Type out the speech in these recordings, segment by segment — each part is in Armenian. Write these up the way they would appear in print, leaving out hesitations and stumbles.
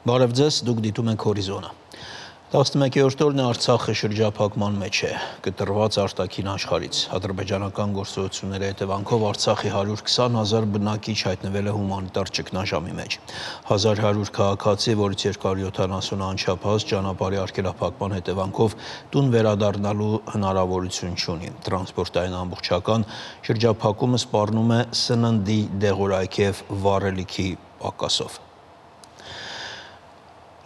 Բարև ձեզ, դուք դիտում եք Հորիզոնը։ 11-րդ օրն Արցախը շրջափակման մեջ է, կտրված արտաքին աշխարհից։ Ադրբեջանական գործողությունների հետևանքով Արցախի 120,000 բնակիչ հայտնվել է հումանիտար ճգնաժամի մեջ։ 1100 քաղաքացի, որից 270 անչափահաս ճանապարհի արգելափակման հետևանքով տուն վերադառնալու հնարավորություն չունի։ Տրանսպորտային ամբողջական շրջափակումը սպառնում է սննդի, դեղորայքի և վառելիքի պակասով։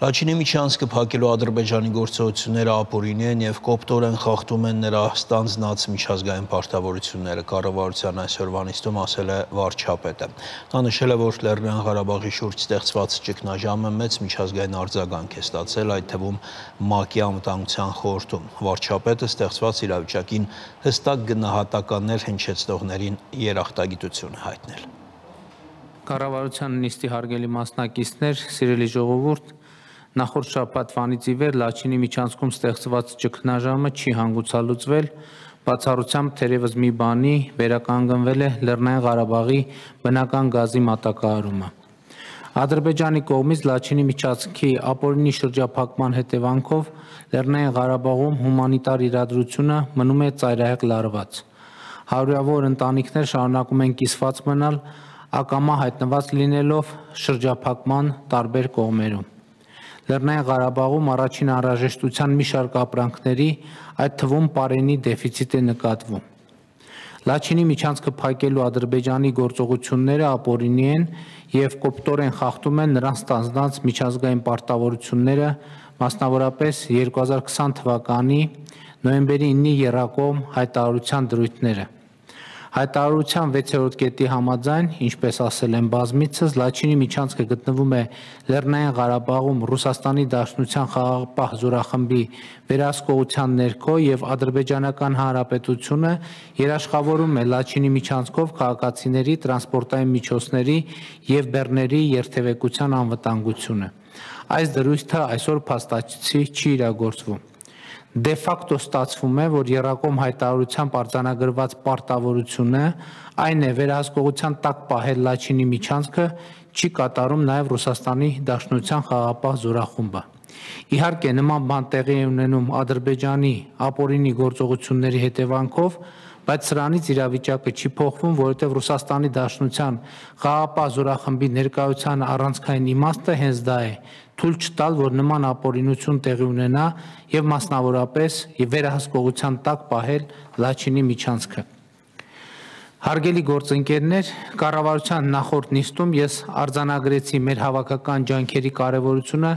Լաչինի միջանցքը փակելու Ադրբեջանի գործողությունները ապօրինի են և կոպտորեն խախտում են նրա ստանձնած միջազգային պարտավորությունները, կառավարության այսօրվա նիստում ասել է վարչապետը։ Նա նշել է, որ Լեռնային Ղարաբաղի շուրջ ստեղծված ճգնաժամը մեծ միջազգային արձագանք է ստացել, այդ թվում ՄԱԿ-ի Անվտանգության խորհրդում։ Վարչապետը ստեղծված իրավիճակին հստակ գնահատականներ հնչեցնողներին երախտագիտություն է հայտնել։ Կառավարության նիստի հարգելի մասնակիցներ, սիրելի ժողովուրդ, նախորդ շաբաթվանից ի վեր Լաչինի միջանցքում ստեղծված ճգնաժամը չի հանգուցալուծվել, բացառությամբ թերևս մի բանի վերականգնվել է Լեռնային Ղարաբաղի բնական գազի մատակարարումը։ Ադրբեջանի կողմից Լաչինի միջանցքի ապօրինի շրջափակման հետևանքով Լեռնային Ղարաբաղում հումանիտար իրադրությունը մնում է ծայրահեղ լարված։ Հարյուրավոր ընտանիքներ շարունակում են կիսված մնալ, ակամա հայտնված լինելով շրջափակման տարբեր կողմերում։ Լեռնային Ղարաբաղում առաջին անհրաժեշտության մի շարք ապրանքների, այդ թվում պարենի դեֆիցիտ է նկատվում։ Լաչինի միջանցքը փակելու Ադրբեջանի գործողությունները ապօրինի են և կոպտորեն խախտում են նրանց ստանձնած միջազգային պարտավորությունները, մասնավորապես 2020 թվականի նոյեմբերի 9-ի եռակողմ հայտարարության դրույթները։ Հայտարարության 6-րդ կետի համաձայն, ինչպես ասել են բազմիցս, Լաչինի միջանցքը գտնվում է Լեռնային Ղարաբաղում Ռուսաստանի Դաշնության խաղաղապահ զորախմբի վերահսկողության ներքո և Ադրբեջանական Հանրապետությունը երաշխավորում է Լաչինի միջանցքով քաղաքացիների, տրանսպորտային միջոցների և բեռների երթևեկության անվտանգությունը։ Այս դրույթը այսօր փաստացի չի իրագործվում։ Դե ֆակտո ստացվում է, որ եռակողմ հայտարարությամբ արձանագրված պարտավորությունը, այն է վերահսկողության տակ պահել Լաչինի միջանցքը, չի կատարում նաև Ռուսաստանի Դաշնության խաղաղապահ զորախումբը։ Իհարկե, նման բան տեղի է ունենում Ադրբեջանի ապօրինի գործողությունների հետևանքով, բայց սրանից իրավիճակը չի փոխվում, որովհետև Ռուսաստանի Դաշնության խաղաղապահ զորախմբի ներկայության առանցքային իմաստը հենց դա է՝ թույլ չտալ, որ նման ապօրինություն տեղի ունենա և մասնավորապես վերահսկողության տակ պահել Լաչինի միջանցքը։ Հարգելի գործընկերներ, կառավարության նախորդ նիստում ես արձանագրեցի մեր հավաքական ջանքերի կարևորությունը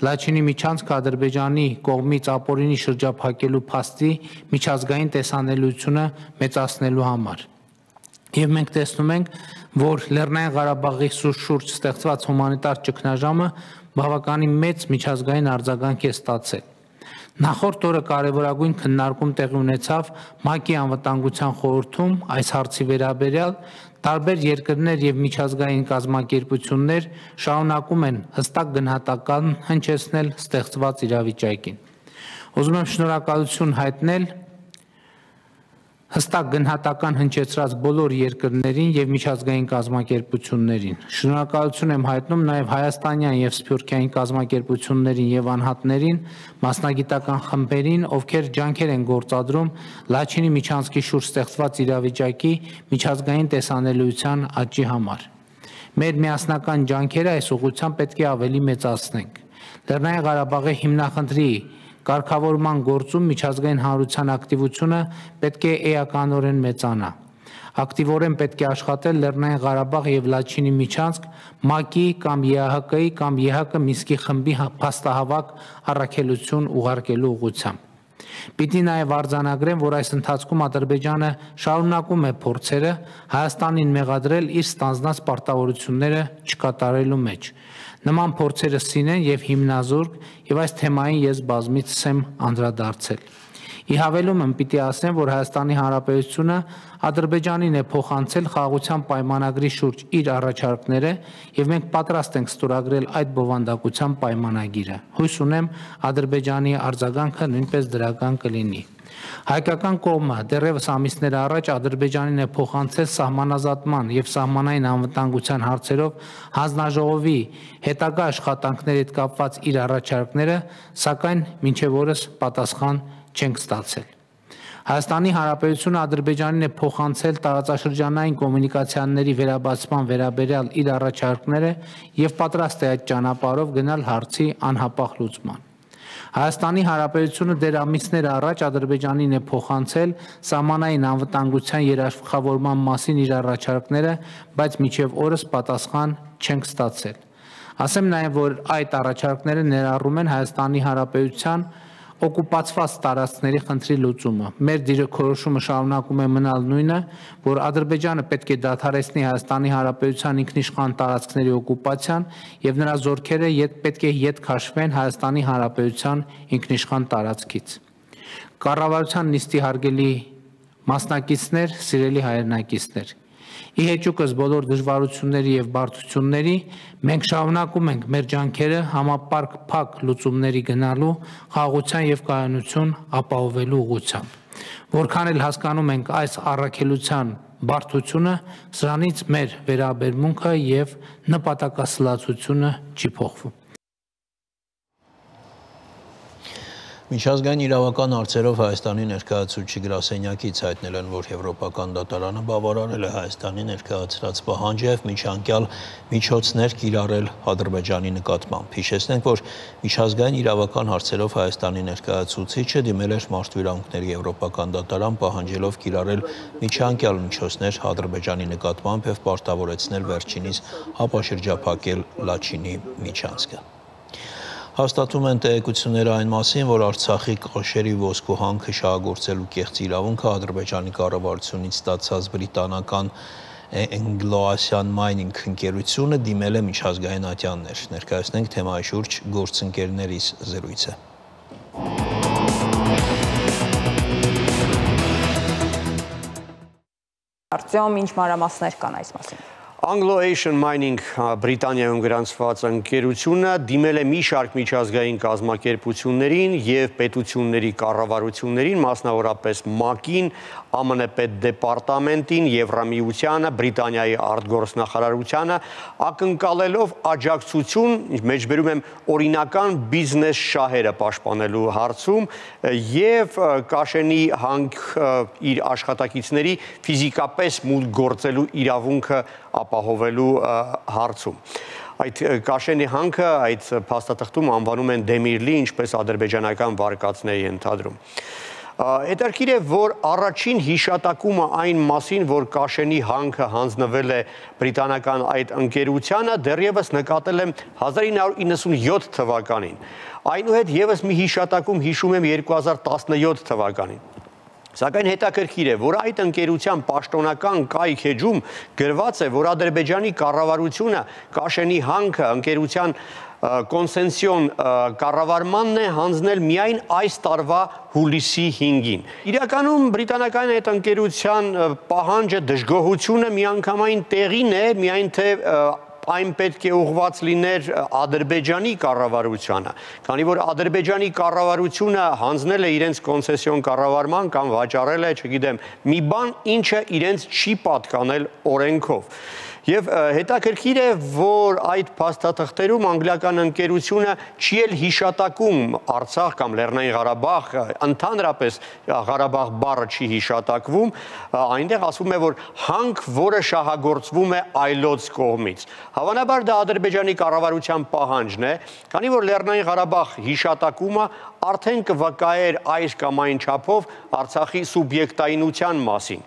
Լաչինի միջանցքը Ադրբեջանի կողմից ապօրինի շրջափակելու փաստի միջազգային տեսանելիությունը մեծացնելու համար։ Եվ մենք տեսնում ենք, որ Լեռնային Ղարաբաղի շուրջ ստեղծված հումանիտար ճգնաժամը բավականին մեծ միջազգային արձագանք է ստացել։ Նախորդ օրը կարևորագույն քննարկում տեղի ունեցավ ՄԱԿ-ի Անվտանգության խորհրդում այս հարցի վերաբերյալ, տարբեր երկրներ և միջազգային կազմակերպություններ շարունակում են հստակ գնահատական հնչեցնել ստեղծված իրավիճակին։ Ուզում եմ շնորհակալություն հայտնել հստակ գնահատական հնչեցրած բոլոր երկրներին և միջազգային կազմակերպություններին։ Շնորհակալություն եմ հայտնում նաև հայաստանյան և սփյուռքյան կազմակերպություններին և անհատներին, մասնագիտական խմբերին, ովքեր ջանքեր են գործադրում Լաչինի միջանցքի շուրջ ստեղծված իրավիճակի միջազգային տեսանելիության աճի համար։ Մեր միասնական ջանքերը այս ուղղությամբ պետք է ավելի մեծացնենք։ Լեռնային Ղարաբաղի հիմնախնդրի կարգավորման գործում միջազգային հանրության ակտիվությունը պետք է էականորեն մեծանա։ Ակտիվորեն պետք է աշխատել Լեռնային Ղարաբաղ և Լաչինի միջանցք ՄԱԿ-ի կամ ԵԱՀԿ-ի կամ ԵՀԿ Մինսկի խմբի փաստահավաք առաքելություն ուղարկելու ուղղությամբ։ Պիտի նաև արձանագրեմ, որ այս ընթացքում Ադրբեջանը շարունակում է փորձերը Հայաստանին մեղադրել իր ստանձնած պարտավորությունները չկատարելու մեջ։ Նման փորձերը սին են և հիմնազուրկ, և այս թեմային ես բազմիցս եմ անդրադարձել։ Ի հավելում պիտի ասեմ, որ Հայաստանի Հանրապետությունը Ադրբեջանին է փոխանցել խաղաղության պայմանագրի շուրջ իր առաջարկները եւ մենք պատրաստ ենք ստորագրել այդ բովանդակության պայմանագիրը։ Հույս ունեմ Ադրբեջանի արձագանքը նույնպես դրական կլինի։ Հայկական կողմը դեռևս ամիսներ առաջ Ադրբեջանին է փոխանցել սահմանազատման եւ սահմանային անվտանգության հարցերով հանձնաժողովի հետագա աշխատանքների հետ կապված իր առաջարկները, սակայն մինչև օրս պատասխան չենք ստացել։ Հայաստանի Հանրապետությունը Ադրբեջանին է փոխանցել տարածաշրջանային կոմունիկացիաների վերաբացման վերաբերյալ իր առաջարկները եւ պատրաստ է այդ ճանապարհով գնալ հարցի անհապաղ լուծման։ Հայաստանի Հանրապետությունը դեռ ամիսներ առաջ Ադրբեջանին է փոխանցել սահմանային անվտանգության երաշխավորման մասին իր առաջարկները, բայց մինչև օրս պատասխան չենք ստացել։ Ասեմ նաև, որ այդ առաջարկները ներառում են Հայաստանի Հանրապետության օկուպացված տարածքների խնդրի լուծումը։ Մեր դիրքորոշումը շարունակում է մնալ նույնը, որ Ադրբեջանը պետք է դադարեցնի Հայաստանի Հանրապետության ինքնիշխան տարածքների օկուպացիան եւ նրա զորքերը պետք է ետ քաշվեն Հայաստանի Հանրապետության ինքնիշխան տարածքից։ Կառավարության նիստի հարգելի մասնակիցներ, սիրելի հայրենակիցներ, ի հեճուկս բոլոր դժվարությունների եւ բարդությունների մենք շարունակում ենք մեր ջանքերը համապարկ փակ լուծումների գնալու, խաղաղության եւ կայունություն ապահովելու ուղղությամբ։ Որքան էլ հասկանում ենք այս առաքելության բարդությունը, սրանից մեր վերաբերմունքը եւ նպատակասլացությունը չի փոխվում։ Միջազգային իրավական հարցերով Հայաստանի ներկայացուցիչ գրասենյակից հայտնել են, որ Եվրոպական դատարանը բավարարել է Հայաստանի ներկայացրած պահանջը եւ միջանկյալ միջոցներ կիրառել Ադրբեջանի նկատմամբ։ Հիշեցնենք, որ միջազգային իրավական հարցերով Հայաստանի ներկայացուցիչը դիմել էր Մարդու իրավունքների Եվրոպական դատարան պահանջելով կիրառել միջանկյալ միջոցներ Ադրբեջանի նկատմամբ եւ պարտավորեցնել վերջինիս ապաշրջափակել Լաչինի միջանցքը։ Հաստատում են տեղեկությունները այն մասին, որ Արցախի կոշերի ոսկու հանքը շահագործելու կեղծ իրավունքը Ադրբեջանի կառավարությունից ստացած բրիտանական Anglo-Asian Mining ընկերությունը դիմել է միջազգային ատյաններ։ Ներկայացնենք թեմայի շուրջ գործընկերներիս զրույցը։ Արտյոմ, ինչ մանրամասներ կան այս մասին։ Anglo-Asian Mining Բրիտանիայում գրանցված ընկերությունը դիմել է մի շարք միջազգային կազմակերպություններին եւ պետությունների կառավարություններին, մասնավորապես ՄԱԿ-ին, ԱՄՆ պետդեպարտամենտին, Եվրամիությանը, Բրիտանիայի արտգործնախարարությանը, ակնկալելով աջակցություն, մեջբերում եմ օրինական բիզնես շահերը պաշտպանելու հարցում եւ Կաշենի հանք իր աշխատակիցների ֆիզիկապես մուտք գործելու իրավունքը ապահովելու հարցում։ Այդ Կաշենի հանքը այդ փաստաթղթում անվանում են Դեմիրլի, ինչպես ադրբեջանական վարկածն է ենթադրում։ Հետաքրքիր է, որ առաջին հիշատակումը այն մասին, որ Կաշենի հանքը հանձնվել է բրիտանական այդ ընկերությանը, դեռևս նկատել եմ 1997 թվականին։ Այնուհետ եւս մի հիշատակում հիշում եմ 2017 թվականին։ Սակայն հետաքրքիր է, որ այդ ընկերության պաշտոնական կայք էջում գրված է, որ Ադրբեջանի կառավարությունը Կաշենի հանքը ընկերության կոնսենսիոն կառավարմանն է հանձնել միայն այս տարվա հուլիսի 5-ին։ Իրականում բրիտանական այդ ընկերության պահանջը, դժգոհությունը միանգամայն տեղին է, միայն թե այն պետք է ուղղված լիներ Ադրբեջանի կառավարությանը, քանի որ Ադրբեջանի կառավարությունը հանձնել է իրենց կոնսեսիոն կառավարման կամ վաճառել է, չգիտեմ, մի բան, ինչը իրենց չի պատկանել օրենքով։ Եվ հետաքրքիր է, որ այդ փաստաթղթերում անգլիական ընկերությունը չի էլ հիշատակում Արցախ կամ Լեռնային Ղարաբաղ, ընդհանրապես Ղարաբաղ բառը չի հիշատակվում, այնտեղ ասվում է, որ հանք, որը շահագործվում է այլոց կողմից։ Հավանաբար դա Ադրբեջանի կառավարության պահանջն է, քանի որ Լեռնային Ղարաբաղ հիշատակումը արդեն կվկայեր այս կամ այն չափով Արցախի սուբյեկտայինության մասին։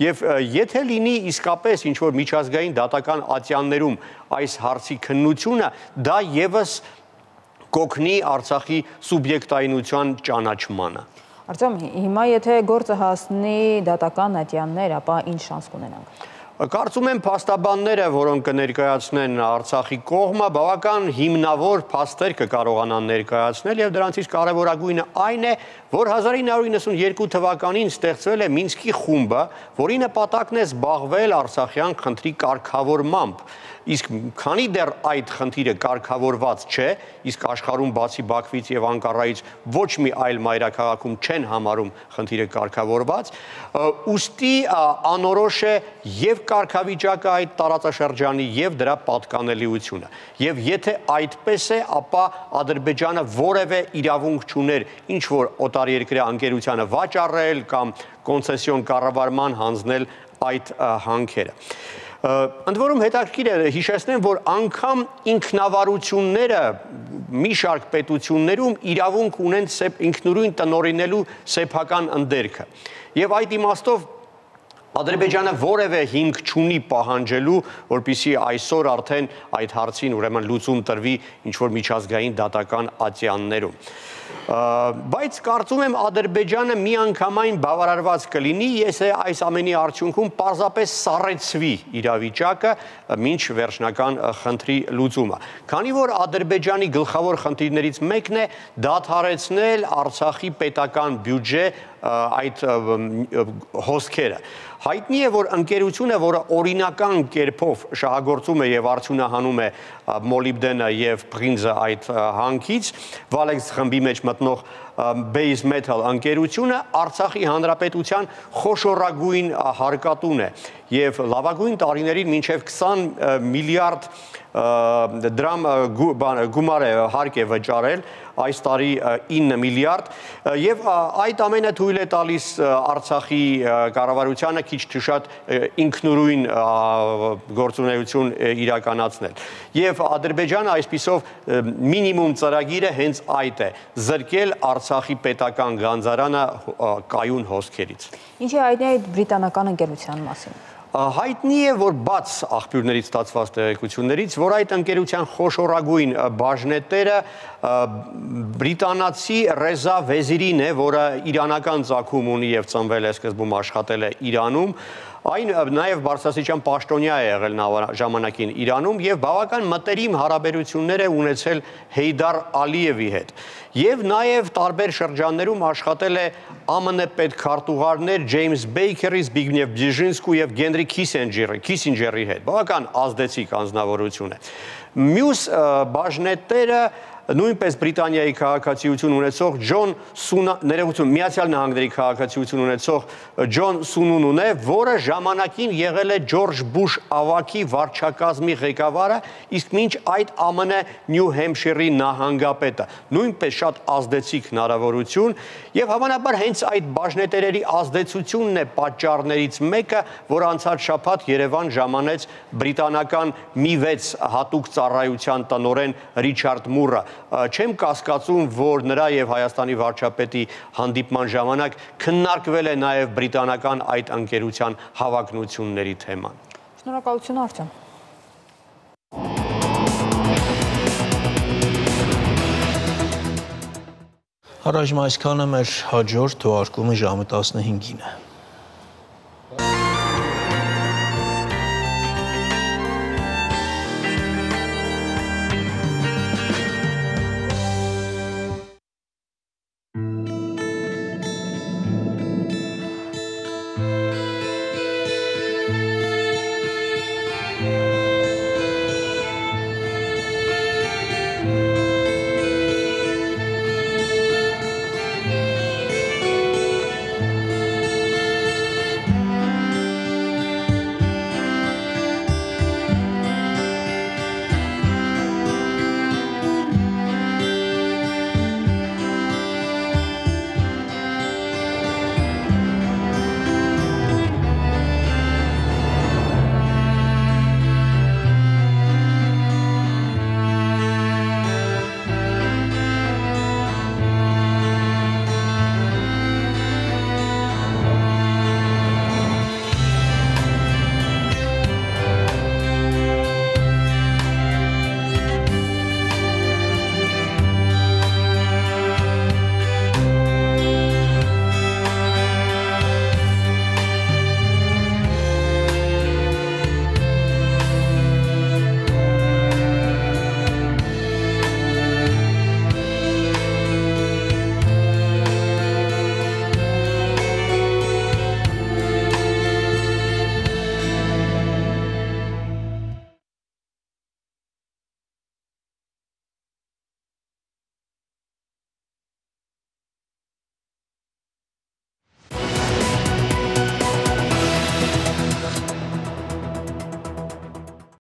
Եվ եթե լինի իսկապես ինչ-որ միջազգային դատական ատյաններում այս հարցի քննությունը, դա եւս կօգնի Արցախի սուբյեկտայինության ճանաչմանը։ Արտյոմ, հիմա եթե գործը հասնի դատական ատյաններ, ապա ինչ շանս կունենանք։ Կարծում եմ փաստաբանները, որոնք կներկայացնեն Արցախի կողմը, բավական հիմնավոր փաստեր կկարողանան ներկայացնել եւ դրանցից կարեւորագույնը այն է, որ 1992 թվականին ստեղծվել է Մինսկի խումբը, որի նպատակն է զբաղվել Արցախյան խնդրի կարգավորմամբ։ Իսկ քանի դեռ այդ խնդիրը կարգավորված չէ, իսկ աշխարհում բացի Բաքվից եւ Անկարայից ոչ մի այլ մայրաքաղաքում չեն համարում խնդիրը կարգավորված, ուստի անորոշ է եւ կարգավիճակը այդ տարածաշրջանի եւ դրա պատկանելիությունը։ Եվ եթե այդպես է, ապա Ադրբեջանը որևէ իրավունք չուներ ինչ որ օտարերկրյա ընկերությանը վաճառել կամ կոնցեսիոն կառավարման հանձնել այդ հանքերը։ Ընդ որում հետաքրքիր է հիշեցնեմ, որ անգամ ինքնավարությունները մի շարք պետություններում իրավունք ունեն ինքնուրույն տնօրինելու սեփական ընդերքը։ Եվ այդ իմաստով Ադրբեջանը որևէ հիմք չունի պահանջելու, որպեսզի այսօր արդեն այդ հարցին ուրեմն լուծում տրվի ինչ-որ միջազգային դատական ատյաններում։ Բայց կարծում եմ Ադրբեջանը միանգամայն բավարարված կլինի, եթե այս ամենի արդյունքում պարզապես սառեցվի իրավիճակը մինչ վերջնական խնդրի լուծումը։ Քանի որ Ադրբեջանի գլխավոր խնդիրներից մեկն է դադարեցնել Արցախի պետական բյուջե այդ հոսքերը։ Հայտնի է, որ ընկերությունը, որը օրինական կերպով շահագործում է եւ արդյունահանում է մոլիբդենը եւ բրինզը այդ հանքից, Valex խմբի մեջ մտնող Base Metal ընկերությունը Արցախի հանրապետության խոշորագույն հարկատուն է եւ լավագույն տարիներին մինչեւ 20 միլիարդ դրամ գումար է հարկ է վճարել, այս տարի 9 միլիարդ եւ այդ ամենը թույլ է տալիս Արցախի կառավարությանը քիչ թե շատ ինքնուրույն գործունեություն իրականացնել։ Եվ Ադրբեջանը այսպիսով մինիմում ծրագիրը հենց այդ է՝ զրկել Արցախի պետական գանձարանը կայուն հոսքերից։ Ինչի հայտնի է այդ բրիտանական ընկերության մասին։ Հայտնի է, որ բաց աղբյուրներից ստացված տեղեկություններից, որ այդ ընկերության խոշորագույն բաժնետերը բրիտանացի Ռեզա Վեզիրին է, որը իրանական ծագում ունի եւ ծնվել է սկզբում աշխատել է Իրանում, այն նաև բարձրաստիճան պաշտոնյա է եղել ժամանակին Իրանում եւ բավական մտերիմ հարաբերություններ է ունեցել Հեյդար Ալիևի հետ։ Եվ նաև տարբեր շրջաններում աշխատել է ԱՄՆ պետքարտուղարներ Ջեյմս Բեյքերի, Զբիգնև Բժինսկու եւ Գենրի Քիսինջերի հետ։ Բավական ազդեցիկ անձնավորություն է։ Մյուս բաժնետերը նույնպես Բրիտանիայի քաղաքացիություն ունեցող Միացյալ Նահանգների քաղաքացիություն ունեցող Ջոն Սունունուն է, որը ժամանակին եղել է Ջորջ Բուշ ավագի վարչակազմի ղեկավարը, իսկ մինչ այդ ԱՄՆ Նյու Հեմփշիրի նահանգապետը։ Նույնպես շատ ազդեցիկ հնարավորություն եւ հավանաբար հենց այդ բաժնետերերի ազդեցությունն է պատճառներից մեկը, որ անցած շաբաթ Երևան ժամանեց բրիտանական Mi-6 հատուկ ծառայության տնօրեն Ռիչարդ Մուրը։ Չեմ կասկածում, որ նրա եւ Հայաստանի վարչապետի հանդիպման ժամանակ քննարկվել է նաեւ բրիտանական այդ ընկերության հավակնությունների թեման։ Շնորհակալություն Արտյոմ։ Առայժմ այսքանը, մեր հաջորդ թողարկումը ժամը 15-ին է։